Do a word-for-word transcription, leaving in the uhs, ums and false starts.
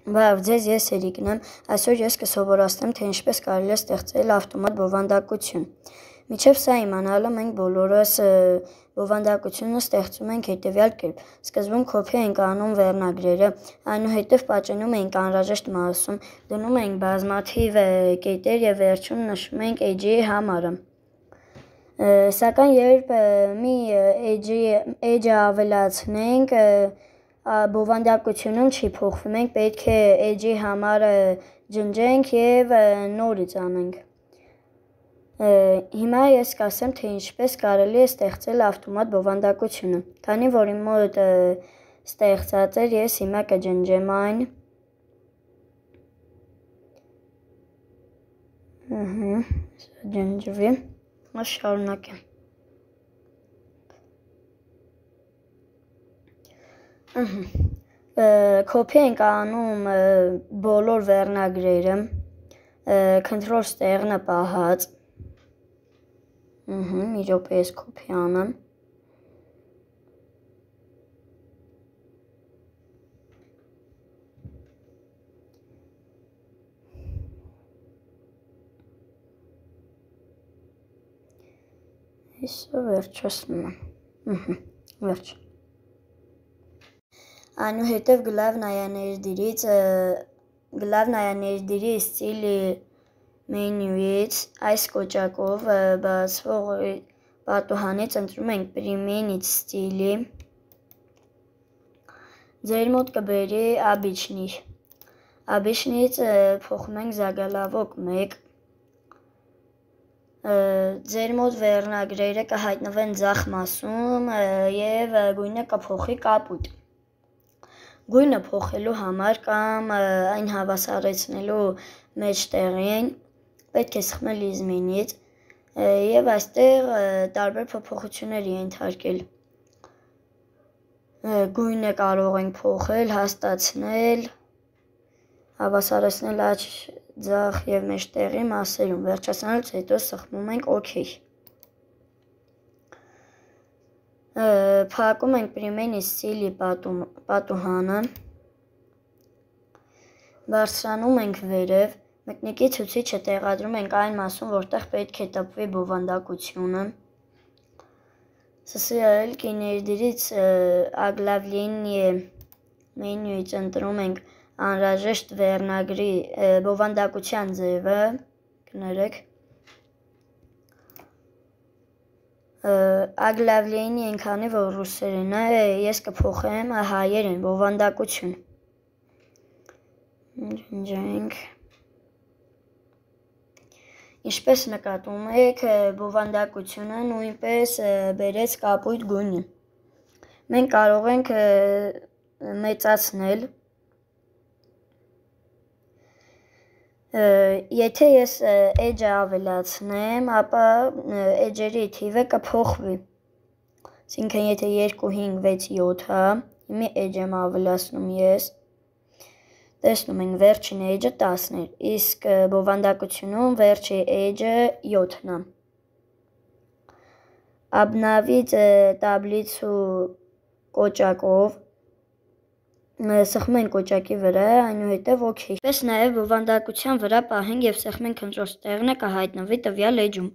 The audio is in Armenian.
Բարև ձեզ, ես Էրիկն եմ, այսօր ես կսովորացնեմ, թե ինչպես կարելի է ստեղծել ավտոմատ բովանդակություն։ Մինչև սա իմանալը մենք բոլորս բովանդակությունը ստեղծում ենք հետևյալ կերպ։ Սկզբում կոփի ենք անում վերնագրերը, այնուհետև պատճենում ենք անհրաժեշտ մասում, դնում ենք բազմաթիվ կետեր եւ վերջում նշում ենք edge-ի համարը։ Սակայն երբ մի edge-ը ավելացնենք, բովանդակությունում չի փոխվի, մենք պետք է edge-ի համարը ջնջենք եւ նորից անենք։ Հիմա ես կասեմ, թե ինչպես կարելի է ստեղծել ավտոմատ բովանդակությունը։ Քանի որ իմ մոտ ստեղծած էր, ես հիմա կջնջեմ այն։ Ահա, ջնջվի։ Ես շարունակեմ։ Կոփի ենք անում բոլոր վերնագրերը, control ստեղնը պահած, մի րոպե ես կոփի անեմ, Հեսա վերջացնում եմ, վերջ։ Այնուհետև գլավնայաներդիրի ստիլի մենյուից այս կոճակով բացվող պատուհանից ընտրում ենք Применить ստիլի, ձեր մոտ կբերի Обычный, Обычնից փոխում ենք Заголовок մեկ, ձեր մոտ վերնագրերը կհայտնվեն ձախ մասում եւ գույնը կփոխի կապույտ։ Գույնը փոխելու համար կամ այն հավասարեցնելու մեջտեղին պետք է սխմել изменить եւ այստեղ տարբեր փոփոխություններ ենթարկել։ Գույնը կարող ենք փոխել, հաստացնել, հավասարեցնել աջ, ձախ եւ մեջտեղի մասերում։ Վերջացնելուց հետո սխմում ենք OK։ Փակում ենք Применить ստիլի պատուհանը, բարձրանում ենք վերև, մկնիկի ցուցիչը տեղադրում ենք այն մասում, որտեղ պետք է տպվի բովանդակությունը։ Սսիալքի ներդիրից Оглавление մենյուից ընտրում ենք անհրաժեշտ վերնագրի բովանդակության ձևը, կներեք։ Оглавление քանի որ ռուսերեն է, ես կփոխեմ հայերեն բովանդակություն։ Ջնջենք։ Ինչպես նկատում եք, բովանդակությունը նույնպես բերեց կապույտ գույնը։ Մենք կարող ենք մեծացնել։ Եթե ես edge-ը ավելացնեմ, ապա edge-երի թիվը կփոխվի։ Այսինքն եթե երկու, հինգ, վեց, յոթ է, մի edge եմ ավելացնում ես, տեսնում ենք վերջին edge-ը տասն էր, իսկ բովանդակությունում վերջի edge-ը յոթն է։ Обновить таблицу կոճակով սխմում ենք կոճակի վրա, այնուհետև OK։ Պես նաև բովանդակության վրա պահենք եւ սխմենք control ստեղնը կհայտնվի տվյալ edge-ում։